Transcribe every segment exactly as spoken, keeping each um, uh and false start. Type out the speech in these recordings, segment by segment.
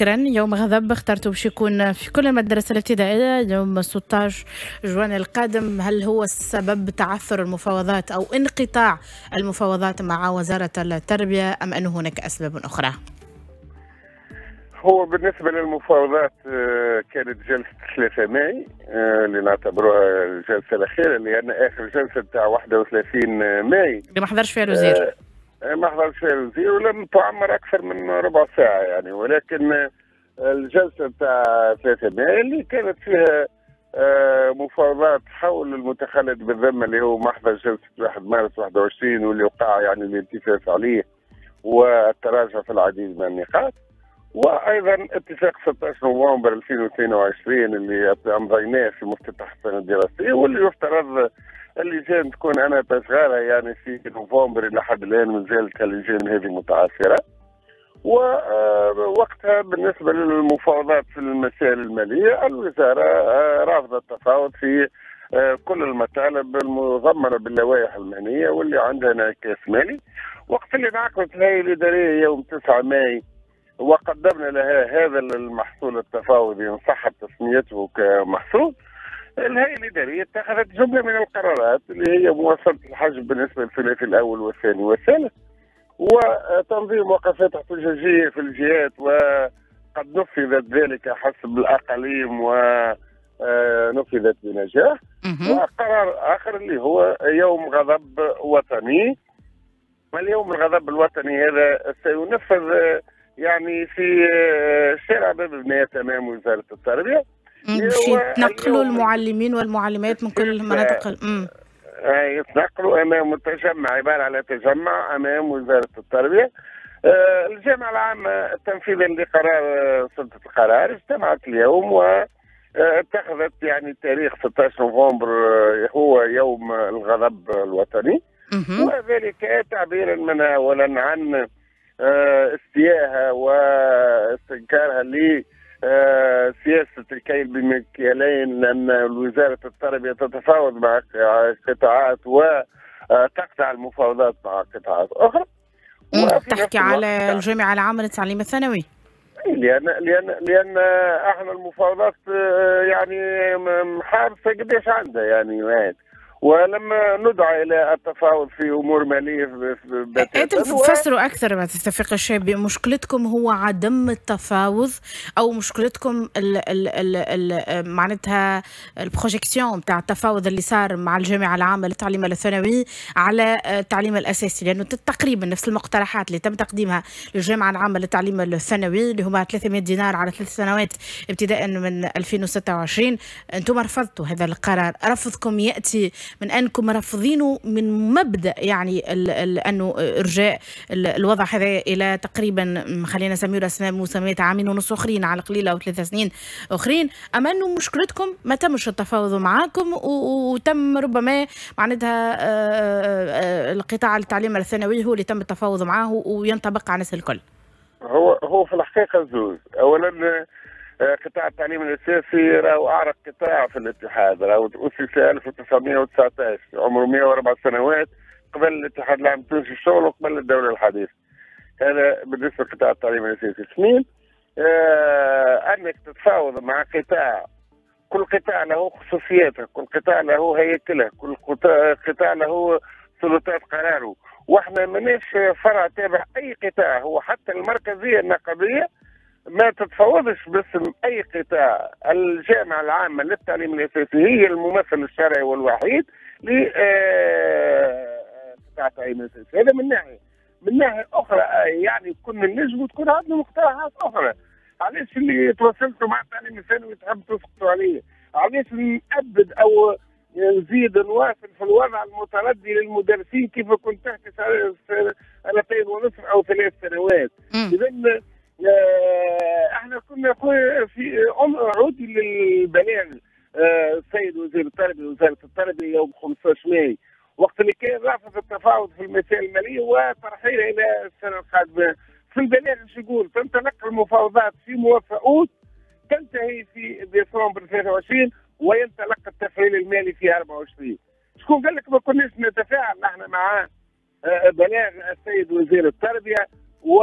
شكرا. يوم غضب اخترته باش يكون في كل المدارس الابتدائية يوم ستة عشر جوان القادم. هل هو السبب تعثر المفاوضات أو انقطاع المفاوضات مع وزارة التربية أم أن هناك أسباب أخرى؟ هو بالنسبة للمفاوضات كانت جلسة ثلاثة ماي اللي نعتبروها الجلسة الأخيرة، لأن آخر جلسة بتاع واحد وثلاثين ماي اللي ما حضرش فيها الوزير، ما حضرش فيها الوزير ولم تعمر أكثر من ربع ساعة يعني. ولكن الجلسة بتاع ثلاثة ماي اللي كانت فيها مفاوضات حول المتخلد بالذمة اللي هو محضر جلسة واحد مارس واحد وعشرين واللي وقع يعني الالتفاف عليه والتراجع في العديد من النقاط، وايضا اتفاق ستة عشر نوفمبر ألفين واثنين وعشرين اللي امضيناه في مفتتح السنة الدراسية واللي يفترض اللجان تكون انا تشغالها يعني في نوفمبر، الى حد الان ما زالت اللجان هذه متعثره. ووقتها بالنسبة للمفاوضات في المسائل المالية الوزارة رافضه التفاوض في كل المطالب المضمنه باللوائح المهنية واللي عندها انعكاس مالي. وقت اللي انعقدت الهيئة الادارية يوم تسعة ماي وقدمنا لها هذا المحصول التفاوضي ان صحت تسميته كمحصول، الهيئة الادارية اتخذت جملة من القرارات اللي هي مواصلة الحجب بالنسبة للثلاثي الاول والثاني والثالث، وتنظيم وقفات احتجاجية في الجهات وقد نفذت ذلك حسب الاقاليم ونفذت بنجاح. وقرار اخر اللي هو يوم غضب وطني، واليوم الغضب الوطني هذا سينفذ يعني في شارع باب بنات امام وزارة التربية. باش يتنقلوا المعلمين والمعلمات من كل المناطق، امم يتنقلوا امام التجمع، عبارة على تجمع امام وزارة التربية. الجامعة العامة تنفيذا لقرار سلطة القرار اجتمعت اليوم واتخذت يعني تاريخ ستة عشر نوفمبر هو يوم الغضب الوطني، وذلك تعبيرا منها اولا عن استيائها واستنكارها لسياسة الكيل بمكيالين، لأن وزارة التربية تتفاوض مع قطاعات وتقطع المفاوضات مع قطاعات أخرى. تحكي على الجامعة العامة للتعليم الثانوي؟ لأن لأن لأن احنا المفاوضات يعني محارسة قداش عندها يعني وين. ولما ندعى الى التفاوض في امور ماليه. انتم تفسروا اكثر ما تتفق الشابي، مشكلتكم هو عدم التفاوض او مشكلتكم ال ال ال ال معناتها ال projection نتاع التفاوض اللي صار مع الجامعة العامة للتعليم الثانوي على التعليم الاساسي، لانه تقريبا نفس المقترحات اللي تم تقديمها للجامعة العامة للتعليم الثانوي اللي هما ثلاثمئة دينار على ثلاث سنوات ابتداء من ألفين وستة وعشرين، انتم رفضتوا هذا القرار. رفضكم ياتي من انكم رافضينه من مبدا يعني ال ال انه ارجاء الوضع هذا الى تقريبا خلينا نسميه اسماء مسميات عامين ونص اخرين على القليلة او ثلاث سنين اخرين، اما انه مشكلتكم ما تمش التفاوض معاكم وتم ربما معناتها القطاع التعليم الثانوي هو اللي تم التفاوض معاه وينطبق على الناس الكل. هو هو في الحقيقة زوز، اولا قطاع التعليم الاساسي راهو اعرق قطاع في الاتحاد، راهو اسس ألف وتسعمئة وتسعة عشر، عمره مئة وأربع سنوات قبل الاتحاد العام التونسي للشغل وقبل الدولة الحديثة. هذا بالنسبة لقطاع التعليم الاساسي. اثنين، آه انك تتفاوض مع قطاع، كل قطاع له خصوصياته، كل قطاع له هيكله، كل قطاع له سلطات قراره، واحنا ماناش فرع تابع اي قطاع، هو حتى المركزية النقابيه ما تتفاوضش باسم اي قطاع. الجامعة العامة للتعليم الاساسي هي الممثل الشرعي والوحيد لقطاع التعليم الاساسي، هذا من ناحية. من ناحية اخرى يعني كنا نجموا تكون عندنا مقترحات اخرى. علاش اللي تواصلتوا مع التعليم الثانوي تحب تسقطوا عليه؟ علاش نأبد او نزيد نواصل في الوضع المتردي للمدرسين كيف كنت تحكي سنتين ونصف او ثلاث سنوات؟ اذا احنا كنا في عودي للبلاغ السيد وزير التربية وزارة التربية يوم خمسة عشر ماي وقت اللي كان رافض التفاوض في المسائل المالية وترحيله الى السنة القادمة. في البلاغ شو يقول؟ تنطلق المفاوضات في موافقات تنتهي في ديسمبر ثلاثة وعشرين وينطلق التفعيل المالي في أربعة وعشرين. شكون قال لك ما كناش نتفاعل نحن مع بلاغ السيد وزير التربية و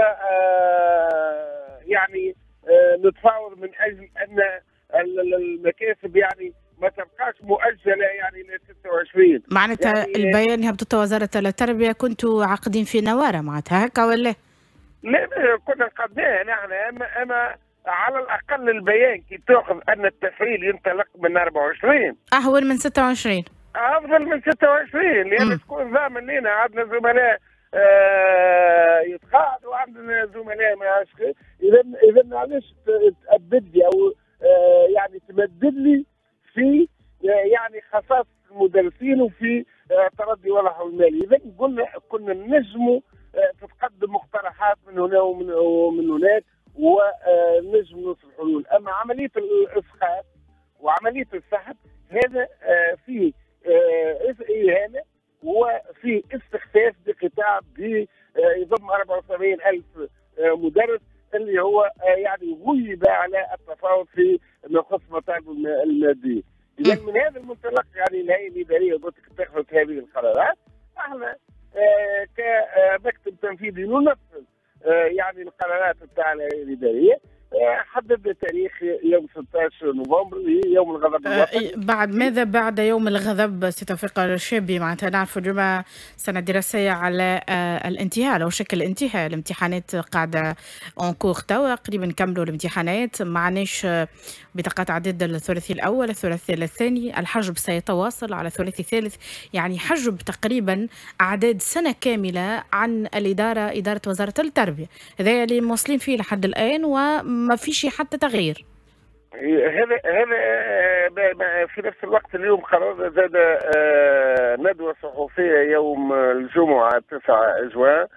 يعني اجل ان المكاسب يعني ما تبقاش مؤجلة يعني ل ستة وعشرين. معناتها يعني البيان هبطته وزارة التربية كنتوا عاقدين في نواره معناتها هكا ولا؟ لا كنا قدناه نحن، اما اما على الاقل البيان كي تاخذ ان التفعيل ينطلق من أربعة وعشرين اهون من ستة وعشرين، افضل من ستة وعشرين، لان تكون ضامن لنا عندنا زملاء آه يتقاعدوا وعندنا زملاء ما عادش. اذا اذا علاش تأبد لي او آه يعني تمدد لي في آه يعني خصاص المدرسين وفي آه تردي وضعهم المالي. اذا قلنا كنا نجموا آه تتقدم مقترحات من هنا ومن ومن هناك ونجم نوصل حلول. اما عملية الاسقاط وعملية السحب هذا آه فيه آه اهانه وفي استخفاف بقطاع يضم أربعة وسبعين ألف مدرس اللي هو يعني غيب على التفاوض في ما يخص مطالبه المادية. اذا من هذا المنطلق يعني الهيئة الادارية اتخذت هذه القرارات. احنا كمكتب تنفيذي ننفذ يعني القرارات بتاع الهيئة الادارية. حددنا تاريخ يوم ستة عشر نوفمبر يوم الغضب الوطني. بعد ماذا بعد يوم الغضب سي توفيق الشابي؟ معناتها نعرف اليوم سنة دراسية على الانتهاء، لو شكل الانتهاء، الامتحانات قاعدة en cours توا، قريب نكملوا الامتحانات، ما عندناش بطاقات عدد الثلاثي الأول، الثلاثي الثاني، الحجب سيتواصل على الثلاثي الثالث، يعني حجب تقريبا أعداد سنة كاملة عن الإدارة، إدارة وزارة التربية، هذا اللي موصلين فيه لحد الآن و ما فيش حتى تغيير. هذا هذا في نفس الوقت اليوم قررنا زاد ندوة صحفية يوم الجمعة تسعة جوان،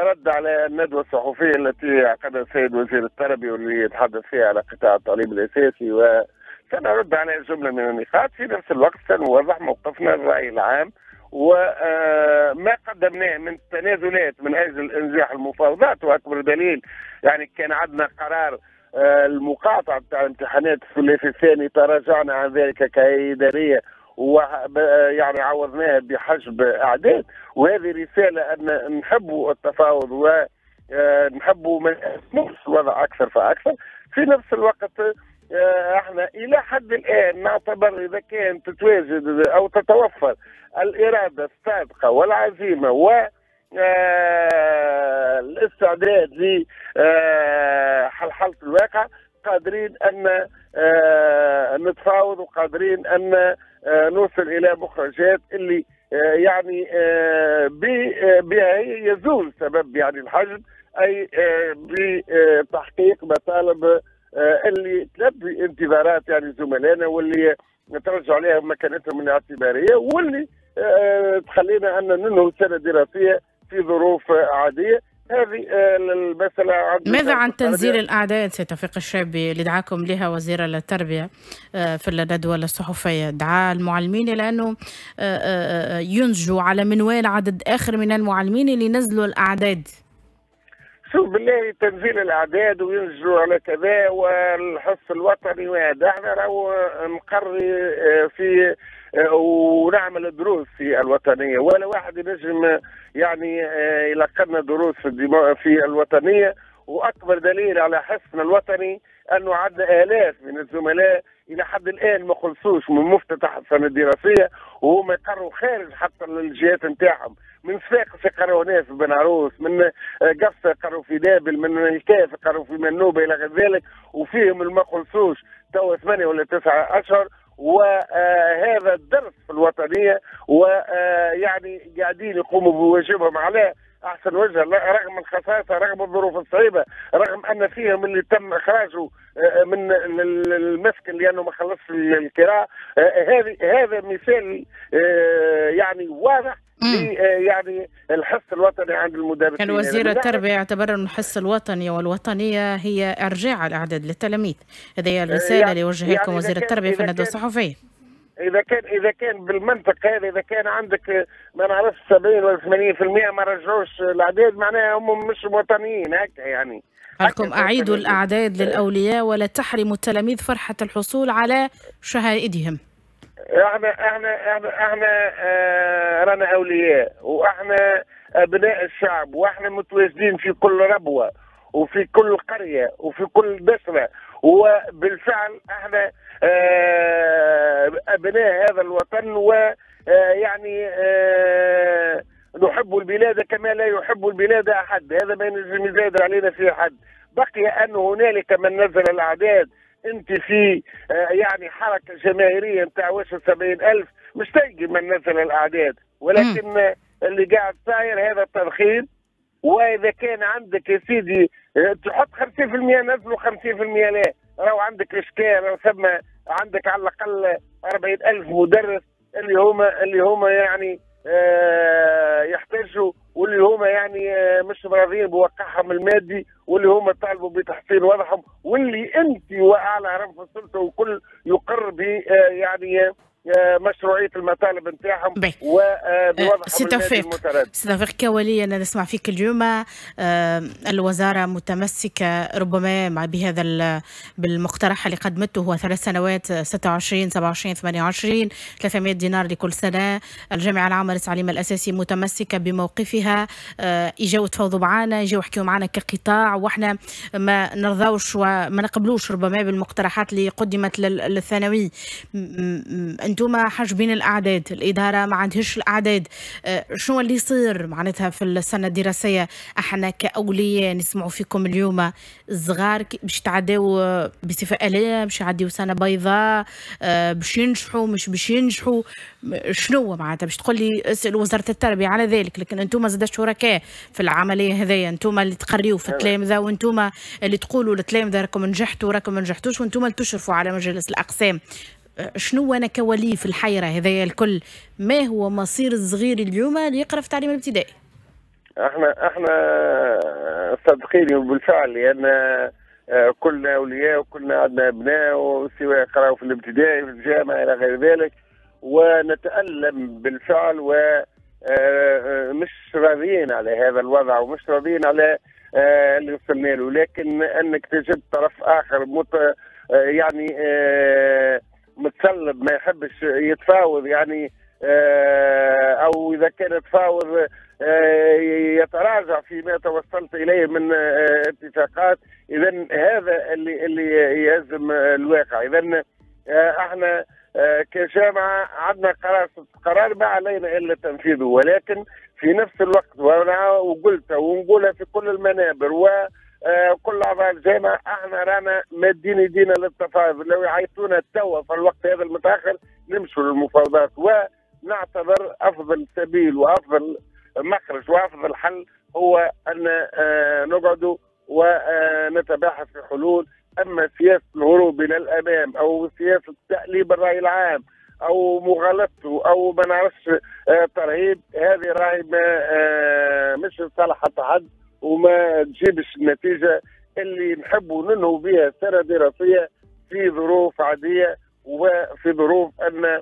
رد على الندوة الصحفية التي عقدها السيد وزير التربية واللي يتحدث فيها على قطاع التعليم الأساسي، وسنرد على جملة من النقاط. في نفس الوقت سنوضح موقفنا الرأي العام وما قدمناه من تنازلات من اجل انجاح المفاوضات. واكبر دليل يعني كان عندنا قرار المقاطعة بتاع الامتحانات الثلاثي الثاني، تراجعنا عن ذلك كإدارية ويعني عوضناها بحجب اعداد. وهذه رسالة ان نحبوا التفاوض ونحبوا ما نسموش الوضع اكثر فاكثر. في نفس الوقت احنا الى حد الان نعتبر اذا كان تتواجد او تتوفر الارادة الصادقة والعزيمة و الاستعداد لحلحله الواقع، قادرين ان نتفاوض وقادرين ان نوصل الى مخرجات اللي يعني بها يزول سبب يعني الحجب، اي بتحقيق مطالب اللي تلبي انتظارات يعني زملائنا واللي نترجع عليها مكانتهم الاعتباريه واللي تخلينا ان ننهي السنة الدراسية في ظروف عادية. هذه المسألة. ماذا عن تنزيل الأعداد سي توفيق الشابي اللي دعاكم لها وزير التربية في الندوة الصحفية؟ دعا المعلمين إلى أنه ينجوا على منوال عدد آخر من المعلمين اللي نزلوا الأعداد. شوف بالله تنزيل الأعداد وينجوا على كذا والحس الوطني وهذا، احنا راهو نقري في ونعمل دروس في الوطنية، ولا واحد ينجم يعني يلقنا دروس في في الوطنية. واكبر دليل على حسنا الوطني انه عندنا الاف من الزملاء الى حد الان ما خلصوش من مفتتح السنة الدراسية وهم يقروا خارج حتى الجهات نتاعهم، من صفاقس يقروا هنا في بن عروس، من قفصه يقروا في نابل، من الكاف يقروا في منوبه الى غير ذلك، وفيهم اللي ما خلصوش توا ثمانية ولا تسعة اشهر. وهذا الدرس في الوطنية، ويعني قاعدين يقوموا بواجبهم على احسن وجه رغم الخساسه، رغم الظروف الصعيبه، رغم ان فيهم اللي تم اخراجه من المسكن لانه ما خلصش الكراء. هذه هذا مثال يعني واضح يعني الحس الوطني عند المدرسين. كان وزير التربية يعتبر أن الحس الوطني والوطنية هي إرجاع الأعداد للتلاميذ. هذه هي الرسالة يعني اللي وجهها لكم يعني وزير التربية في الندوة الصحفية. إذا كان إذا كان بالمنطق هذا، إذا كان عندك ما نعرفش سبعين ولا ثمانين بالمئة ما رجعوش الأعداد، معناها هم مش وطنيين هكا يعني. قالكم أعيدوا الأعداد للأولياء ولا تحرموا التلاميذ فرحة الحصول على شهائدهم. احنا احنا احنا احنا اه رانا اولياء، واحنا ابناء الشعب، واحنا متواجدين في كل ربوه وفي كل قرية وفي كل بشره، وبالفعل احنا ابناء هذا الوطن، ويعني نحب البلاد كما لا يحب البلاد احد، هذا ما ينجم يزايد علينا فيه حد. بقي ان هنالك من نزل الاعداد. انت في يعني حركة جماهيرية نتاع واش سبعين ألف مش تلقي من نزل الاعداد، ولكن اللي قاعد صاير هذا التضخيم. واذا كان عندك يا سيدي تحط خمسين بالمئة نزلوا خمسين بالمئة لا، راهو عندك اشكال، راهو ثم عندك على الاقل أربعين ألف مدرس اللي هما اللي هما يعني آه يحتاجوا، واللي هما يعني آه مش راضيين بواقعهم المادي، واللي هما طالبوا بتحسين وضعهم، واللي انت واعلى هرم في السلطة وكل يقر ب آه يعني مشروعية المطالب نتاعهم وبوضعهم المادي المتردد. سي توفيق، كولي انا نسمع فيك اليوم الوزارة متمسكة ربما مع بهذا بالمقترح اللي قدمته، هو ثلاث سنوات ستة وعشرين سبعة وعشرين ثمانية وعشرين ثلاثمئة دينار لكل سنة. الجامعة العامة للتعليم الاساسي متمسكة بموقفها، اجاو تفاوضوا معنا، اجاو حكيوا معنا كقطاع، واحنا ما نرضاوش وما نقبلوش ربما بالمقترحات اللي قدمت للثانوي. انتم حاجبين الاعداد، الادارة ما عندهاش الاعداد، شنو اللي يصير معناتها في السنة الدراسية؟ احنا كاولياء نسمعوا فيكم اليوم الصغار باش تعداو بصفة آليه، باش يعديو سنة بيضاء، باش ينجحوا مش باش ينجحوا، شنو معناتها؟ باش تقول لي اسال وزارة التربية على ذلك، لكن انتم زاد شركاء في العملية هذيا، انتم اللي تقريوا في التلامذه، وانتم اللي تقولوا للتلامذه راكم نجحتوا راكم ما نجحتوش، وانتم اللي تشرفوا على مجالس الاقسام. شنو انا كولي في الحيرة هذايا الكل؟ ما هو مصير الصغير اليوم اللي يقرا في التعليم الابتدائي؟ احنا احنا صادقين بالفعل، لان كلنا اولياء وكلنا عندنا ابناء، وسواء يقراوا في الابتدائي في الجامعة الى غير ذلك، ونتالم بالفعل ومش راضيين على هذا الوضع ومش راضيين على اللي وصلنا له. لكن انك تجد طرف اخر مت يعني متسلب ما يحبش يتفاوض، يعني او اذا كان يتفاوض يتراجع فيما توصلت اليه من اتفاقات، اذا هذا اللي اللي يهزم الواقع. اذا احنا كجامعه عندنا قرار قرار ما علينا الا تنفيذه، ولكن في نفس الوقت وانا وقلت ونقولها في كل المنابر و كل اعضاء الجامعة، احنا رانا مادين يدينا للتفاوض. لو يعيطونا توا في الوقت هذا المتاخر نمشوا للمفاوضات، ونعتبر افضل سبيل وافضل مخرج وافضل حل هو ان نقعدوا ونتباحث في حلول. اما سياسة الهروب الى الامام او سياسة تأليب الراي العام او مغالطته او ما نعرفش ترهيب، هذه راهي مش لصالح حتى حد، وما تجيبش النتيجة اللي نحبوا ننهوا بها السنة الدراسية في ظروف عادية وفي ظروف ان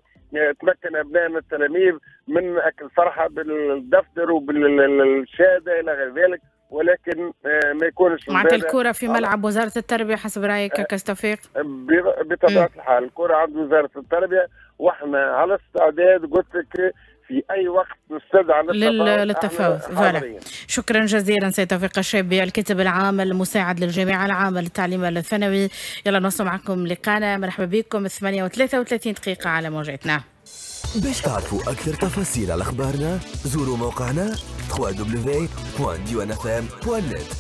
تمكن ابنائنا التلاميذ من اكل فرحه بالدفتر وبالشهاده الى غير ذلك، ولكن ما يكونش معناتها الكره في ملعب وزارة التربية حسب رايك كاستوفيق؟ بطبيعة الحال الكره عند وزارة التربية، واحنا على استعداد قلت لك في اي وقت نستدعى للتفاوض. voilà، شكرا جزيلا سيد توفيق الشابي الكاتب العام المساعد للجامعة العامة للتعليم الثانوي. يلا نوصل معكم لقانا، مرحبا بكم. ثمانية وثلاثة وثلاثين دقيقة على موجتنا. باش تعرفوا اكثر تفاصيل على اخبارنا زوروا موقعنا دبليو دبليو دبليو دوت ديوان اف ام دوت نت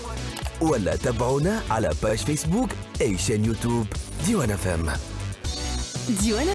ولا تابعونا على page فيسبوك اي chaîne يوتيوب ديوان اف ام. ديوان